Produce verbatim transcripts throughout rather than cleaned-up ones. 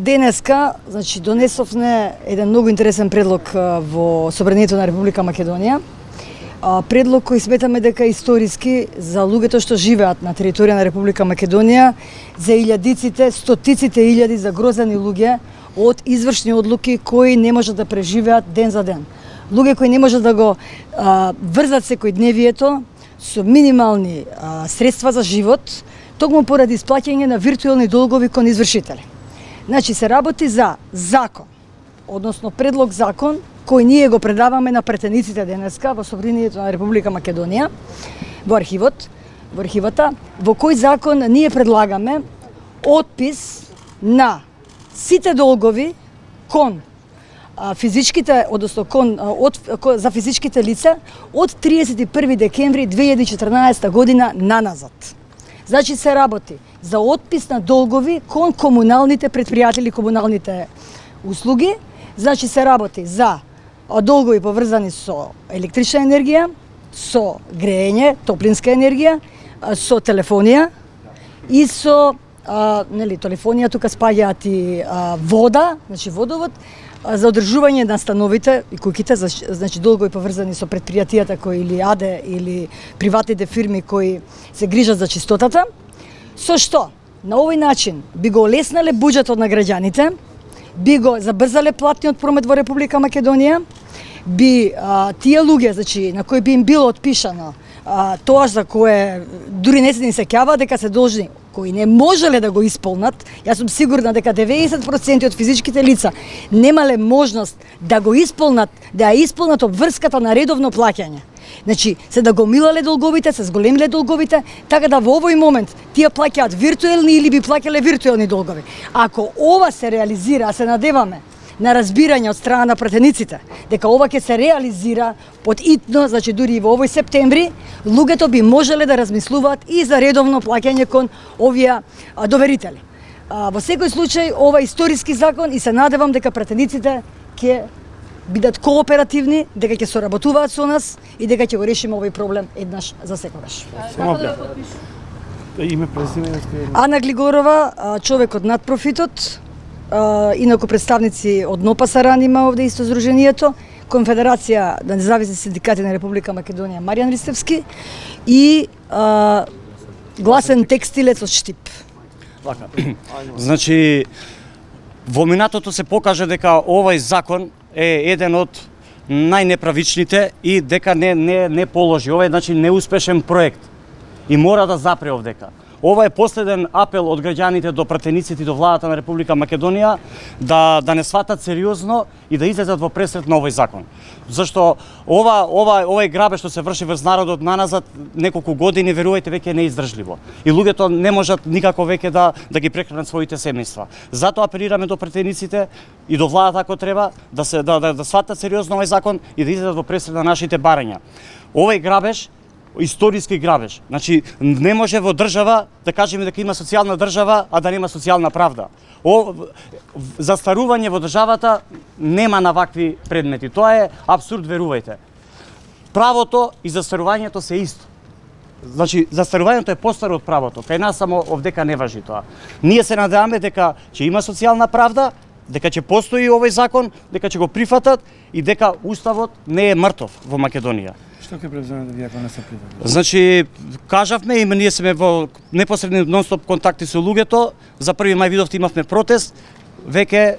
денеска, значи, донесовме еден многу интересен предлог во Собранието на Република Македонија. Предлог кој сметаме дека е историски за луѓето што живеат на територија на Република Македонија, за илјадиците, стотиците илјади загрозени луѓе од извршни одлуки кои не можат да преживеат ден за ден. Луѓе кои не можат да го а, врзат секојдневието со минимални а, средства за живот, токму поради исплаќање на виртуелни долгови кон извршители. Значи се работи за закон, односно предлог закон кој ние го предаваме на претениците денеска во Собранието на Република Македонија, во архивот, во архивата, во кој закон ние предлагаме отпис на сите долгови кон а, физичките, односно кон, а, од, кон, за физичките лица од триесет и први декември две илјади и четрнаесетта година наназад. Значи се работи за отпис на долгови кон комуналните предпријатели, комуналните услуги. Значи се работи за долгови поврзани со електрична енергија, со грејење, топлинска енергија, со телефонија и со а, нели, телефонија тука спаѓаат и а, вода, значи водовод, а, за одржување на становите и куќите, значи долгови поврзани со предпријатијата кои или АДЕ или приватните фирми кои се грижат за чистотата, со што на овој начин би го олеснале буџетот на граѓаните, би го забрзале платниот промет во Република Македонија, би а, тие луѓе, значи, на кои би им било отпишано а, тоа за кое дури не се ни сеќава дека се должни, кои не можеле да го исполнат. Јас сум сигурна дека деветдесет проценти од физичките лица немале можност да го исполнат, да ја исполнат обврската на редовно плаќање. Значи, се да го милале долговите, се зголемиле долговите, така да во овој момент тие плаќаат виртуелни или би плаќале виртуелни долгови. Ако ова се реализира, а се надеваме на разбирање од страна на претениците, дека ова ќе се реализира под итно, значи дури и во овој септември, луѓето би можеле да размислуваат и за редовно плаќање кон овие а, доверители. А, во секој случај, ова е историски закон и се надевам дека претениците ќе бидат кооперативни, дека ќе соработуваат со нас и дека ќе го решиме овој проблем еднаш за секогаш. Како да подпишу? Име, презиме, Ана Глигорова, човек од надпрофитот, инаку представници од НОПАСАРАН има овде исто здруженијето, Конфедерација на независни синдикати на Република Македонија Маријан Ристевски и а, гласен текстилец од Штип. Вака. Значи, во минатото се покаже дека овој закон е еден од најнеправичните и дека не не не положи. Ова е значи неуспешен проект и мора да запре овдека. Ова е последен апел од граѓаните до пратениците и до владата на Република Македонија да да не сватат сериозно и да излезат во пресрет на овој закон. Зашто ова ова овој грабеж што се врши врз народот наназад неколку години, верувајте, веќе е неиздржливо. И луѓето не можат никако веќе да да ги прехранат своите семејства. Затоа апелираме до пратениците и до владата ако треба да се да да, да сватат сериозно овој закон и да излезат во пресрет на нашите барања. Овој грабеж историски грабеж. Значи, не може во држава да кажеме дека има социјална држава, а да нема социјална правда. О, застарување во државата нема на вакви предмети. Тоа е апсурд, верувајте. Правото и застарувањето се исто. Значи, застарувањето е постаро од правото. Кај нас само овдека не важи тоа. Ние се надеваме дека ќе има социјална правда, дека ќе постои овој закон, дека ќе го прифатат и дека уставот не е мртов во Македонија. Што ќе превземете вие ако не се прифатат? Значи, кажавме и ние сме во непосредни нон-стоп контакти со луѓето. За први мај видовте имавме протест. Веќе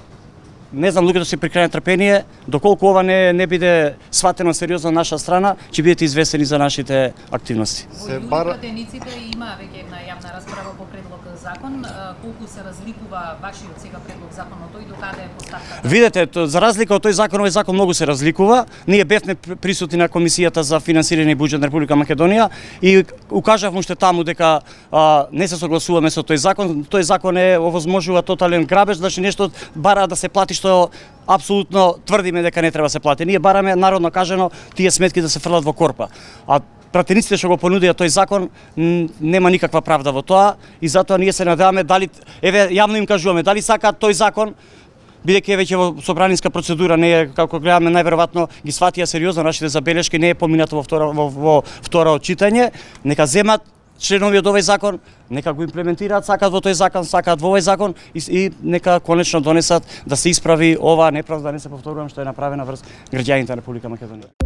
не знам, луѓето се при крај на трпение, доколку ова не не биде сватено сериозно на наша страна, ќе бидете известени за нашите активности. Се бара пратениците има веќе една јавна расправа по предлог закон, колку се разликува вашиот сега предлог закон од тој, докаде е поставката? Видете, за разлика од тој закон, овој закон многу се разликува. Ние бевме присутни на Комисијата за финансирање и буџет на Република Македонија и укажавме уште таму дека а, не се согласуваме со тој закон. Тој закон е овозможува тотален грабеж, значи нешто бара да се плати што апсолутно тврдиме дека не треба да се плати. Ние бараме народно кажано тие сметки да се фрлат во корпа. А пратениците што го понудија тој закон нема никаква правда во тоа и затоа ние се надеваме дали еве јавно им кажуваме дали сакаат тој закон, бидејќи е веќе во собранинска процедура, не е, како гледаме, најверојатно ги сватија сериозно нашите забелешки, не е поминато во втора во, во второ читање, нека земат членови од овој закон, нека го имплементираат, сакаат во тој закон, сакаат во овој закон и, и нека конечно донесат да се исправи оваа неправда, да не се повторувам што е направена врз граѓаните на Република Македонија.